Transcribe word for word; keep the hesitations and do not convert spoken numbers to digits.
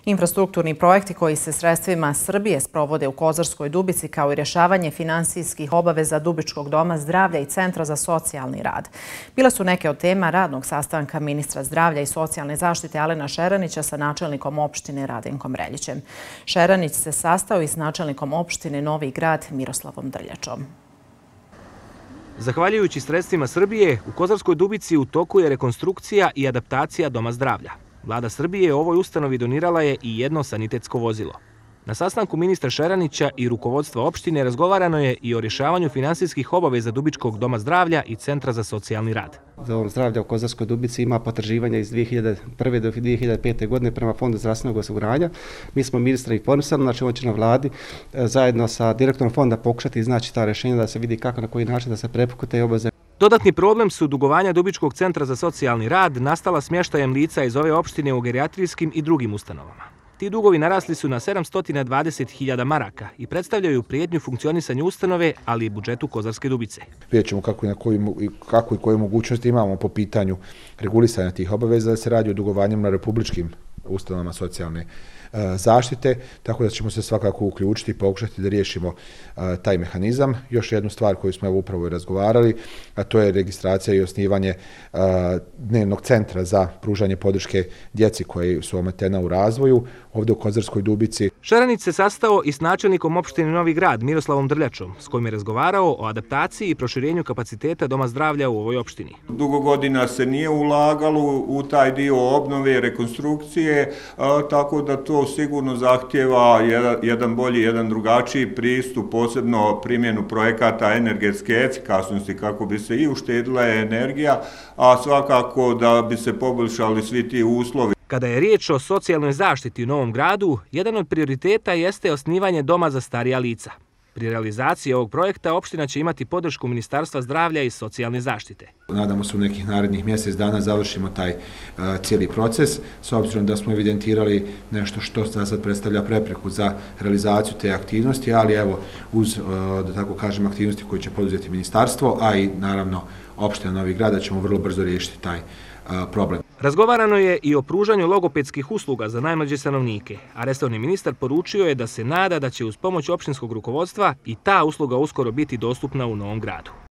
Infrastrukturni projekti koji se sredstvima Srbije sprovode u Kozarskoj Dubici, kao i rješavanje finansijskih obaveza Dubičkog doma zdravlja i Centra za socijalni rad, bile su neke od tema radnog sastanka ministra zdravlja i socijalne zaštite Alena Šeranića sa načelnikom opštine Radenkom Reljićem. Šeranić se sastao i s načelnikom opštine Novi Grad Miroslavom Drljačom. Zahvaljujući sredstvima Srbije, u Kozarskoj Dubici u toku je rekonstrukcija i adaptacija Doma zdravlja. Vlada Srbije ovoj ustanovi donirala je i jedno sanitetsko vozilo. Na sastanku ministra Šeranića i rukovodstva opštine razgovarano je i o rješavanju finansijskih obaveza Dubičkog doma zdravlja i Centra za socijalni rad. Dom zdravlja u Kozarskoj Dubici ima potraživanja iz dvije hiljade prve do dvije hiljade pete. godine prema Fondu zdravstvenog osiguranja. Mi smo ministra informisali, znači on će na vladi zajedno sa direktorom fonda pokušati iznaći ta rješenja da se vidi kako, na koji način da se prepuku te obaveze. Dodatni problem su dugovanja Dubičkog centra za socijalni rad nastala smještajem lica iz ove opštine u gerijatrijskim i drugim ustanovama. Ti dugovi narasli su na sedamsto dvadeset hiljada maraka i predstavljaju prijetnju funkcionisanju ustanove, ali i budžetu Kozarske Dubice. Vidjet ćemo kako i, na koji, kako i koje mogućnosti imamo po pitanju regulisanja tih obaveza, da se radi o dugovanjem na republičkim ustanovama socijalne zaštite, tako da ćemo se svakako uključiti i pokušati da riješimo taj mehanizam. Još jednu stvar koju smo evo upravo i razgovarali, a to je registracija i osnivanje dnevnog centra za pružanje podrške djeci koji su ometena u razvoju ovdje u Kozarskoj Dubici. Šeranić se sastao i s načelnikom opštine Novi Grad Miroslavom Drljačom, s kojim je razgovarao o adaptaciji i proširenju kapaciteta Doma zdravlja u ovoj opštini. Dugo godina se nije ulagalo u taj dio obnove i rekonstrukcije, tako da to sigurno zahtjeva jedan bolji, jedan drugačiji pristup, posebno primjenu projekata energetske efikasnosti kako bi se i uštedila energija, a svakako da bi se poboljšali svi ti uslovi. Kada je riječ o socijalnoj zaštiti u Novom Gradu, jedan od prioriteta jeste osnivanje doma za starija lica. Pri realizaciji ovog projekta opština će imati podršku Ministarstva zdravlja i socijalne zaštite. Nadamo se u nekih narednih mjesec dana završimo taj uh, cijeli proces, s obzirom da smo evidentirali nešto što sad predstavlja prepreku za realizaciju te aktivnosti, ali evo uz, uh, da tako kažem, aktivnosti koje će poduzeti ministarstvo, a i naravno opština Novi Grad, ćemo vrlo brzo riješiti taj uh, problem. Razgovarano je i o pružanju logopedskih usluga za najmlađe stanovnike, a resorni ministar poručio je da se nada da će uz pomoć opštinskog rukovodstva i ta usluga uskoro biti dostupna u Novom Gradu.